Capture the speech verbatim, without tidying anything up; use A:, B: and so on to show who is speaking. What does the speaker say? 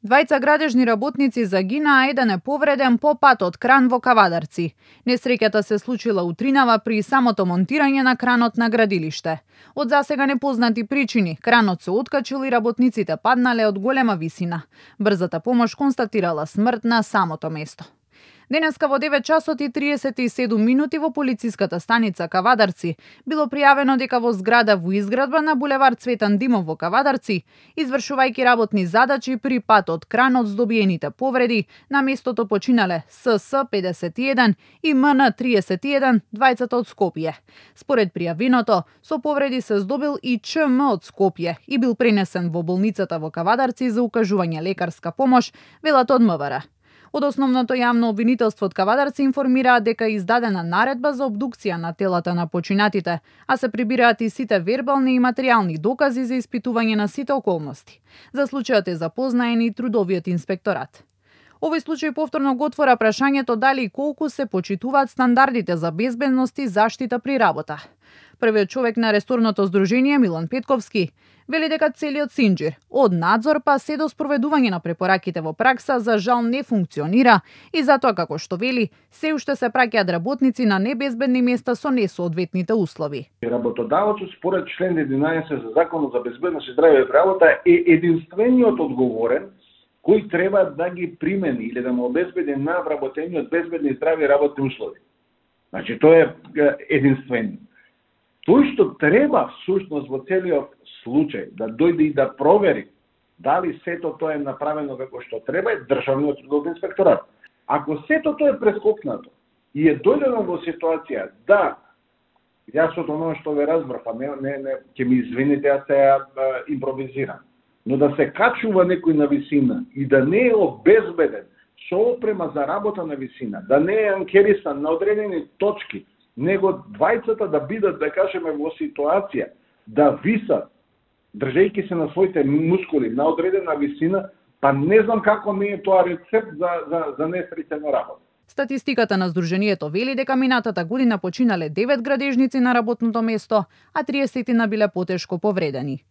A: Двајца градежни работници загинаа, еден е повреден по патот кран во Кавадарци. Несреќата се случила утринава при самото монтирање на кранот на градилиште. Од засега непознати причини, кранот се откачил и работниците паднале од голема висина. Брзата помош констатирала смрт на самото место. Денеска во девет часот и триесет и седум минути во полициската станица Кавадарци било пријавено дека во зграда во изградба на булевард Цветан Димов во Кавадарци, извршувајќи работни задачи при патот кранот с добиените повреди, на местото починале С С педесет и еден и М Н триесет и еден, двајцата од Скопје. Според пријавеното, со повреди се здобил и Ч М од Скопје и бил пренесен во болницата во Кавадарци за укажување лекарска помош, велат од М В Р. Од основното јавно обвинителство од Кавадарци информираа дека е издадена наредба за обдукција на телата на починатите, а се прибираат и сите вербални и материјални докази за испитување на сите околности. За случајот е запознаен и трудовиот инспекторат. Овој случај повторно го отвора прашањето дали и колку се почитуваат стандардите за безбедност и заштита при работа. Првиот човек на ресторното здружение, Милан Петковски, вели дека целиот синџир, од надзор па се до спроведување на препораките во пракса, за жал не функционира и затоа, како што вели, се уште се праќаат работници на небезбедни места со несоодветните услови.
B: Работодавецот според член единаесет за Законот за безбедност и здравје во работа е единствениот одговорен кој треба да ги примени или да му обезбеди на вработениот безбедни и здрави работни услови. Значи, тој е единствен. Тој што треба всушност во целиот случај да дојде и да провери дали сето тоа е направено како што треба е Државниот трудови инспекторат. Ако сето тоа е прескокнато и е дојдено во ситуација да, јас од оно што ве разбрав, а не, не, не, ќе ми извините, јас се а, импровизирам, но да се качува некој на висина и да не е обезбеден со опрема за работа на висина, да не е анкерисан на одредени точки, него двајцата да бидат, да кажеме, во ситуација да висат, држејќи се на своите мускули на одредена висина, па не знам како не е тоа рецепт за, за, за несреќа на работа.
A: Статистиката на Сдруженијето вели дека минатата година починале девет градежници на работното место, а триесет биле потешко повредени.